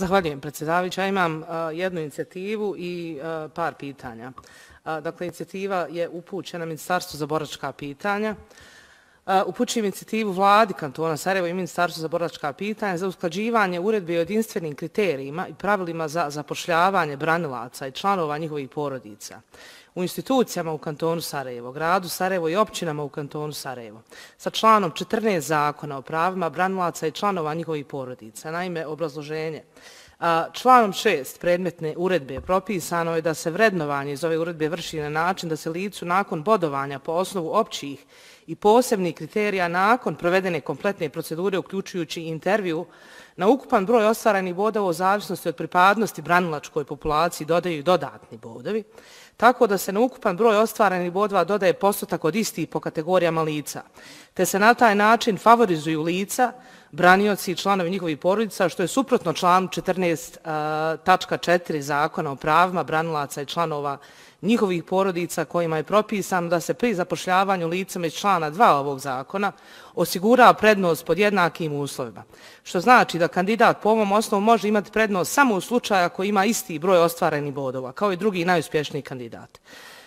Zahvaljujem, predsjedavajuća. Ja imam jednu inicijativu i par pitanja. Dakle, inicijativa je upućena Ministarstvu za boračka pitanja. Upućujem inicijativu Vladi kantona Sarajevo i Ministarstvu za boračka pitanja za usklađivanje uredbe o jedinstvenim kriterijima i pravilima za zapošljavanje branilaca i članova njihovih porodica u institucijama u kantonu Sarajevo, gradu Sarajevo i općinama u kantonu Sarajevo sa članom 14 Zakona o pravima branilaca i članova njihovih porodica. Naime, obrazloženje. Članom 6 predmetne uredbe propisano je da se vrednovanje iz ove uredbe vrši na način da se licu nakon bodovanja po osnovu općih i posebnih kriterija nakon provedene kompletne procedure, uključujući intervju, na ukupan broj ostvarenih bodova u zavisnosti od pripadnosti branilačkoj populaciji dodaju i dodatni bodovi, tako da se na ukupan broj ostvarenih bodova dodaje postotak od istih po kategorijama lica, te se na taj način favorizuju lica, branioci i članovi njihovih porodica, što je suprotno članu 14.4 Zakona o pravima branilaca i članova njihovih porodica, kojima je propisano da se pri zapošljavanju licama iz člana 2 ovog zakona osigura prednost pod jednakim uslovima, što znači da kandidat po ovom osnovu može imati prednost samo u slučaju ako ima isti broj ostvarenih bodova, kao i drugi najuspješniji kandidat.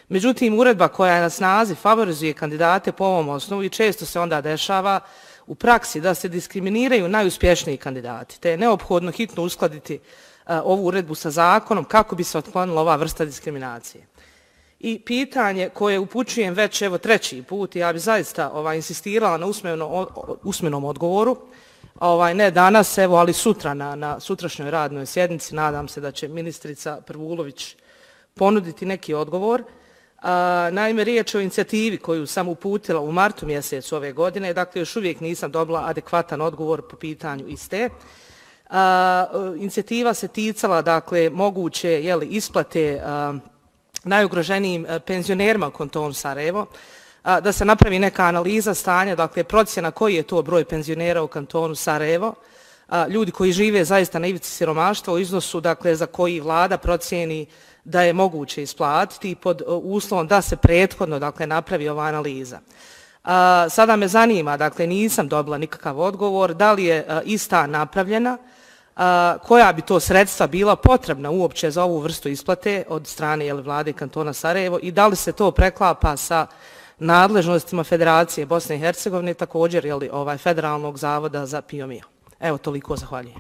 Međutim, uredba koja je na snazi favorizuje kandidate po ovom osnovu i često se onda dešava u praksi da se diskriminiraju najuspješniji kandidati, te je neophodno hitno uskladiti ovu uredbu sa zakonom kako bi se otklonila ova vrsta diskriminacije. I pitanje koje upućujem već evo treći put, ja bi zaista insistirala na usmenom odgovoru, ne danas, evo, ali sutra na sutrašnjoj radnoj sjednici. Nadam se da će ministrica Prvulović ponuditi neki odgovor. Naime, riječ je o inicijativi koju sam uputila u martu mjesecu ove godine, dakle još uvijek nisam dobila adekvatan odgovor po pitanju iste. Inicijativa se ticala, dakle, moguće isplate najugroženijim penzionerima u kantonu Sarajevo, da se napravi neka analiza stanja, dakle procjena koji je to broj penzionera u kantonu Sarajevo, ljudi koji žive zaista na ivici siromaštva u iznosu, dakle, za koji vlada procijeni da je moguće isplatiti pod uslovom da se prethodno, dakle, napravi ova analiza. Sada me zanima, dakle, nisam dobila nikakav odgovor, da li je ista napravljena, koja bi to sredstva bila potrebna uopće za ovu vrstu isplate od strane vlade kantona Sarajevo i da li se to preklapa sa nadležnostima Federacije Bosne i Hercegovine, također Federalnog zavoda za PIO. Evo, toliko, zahvaljujem.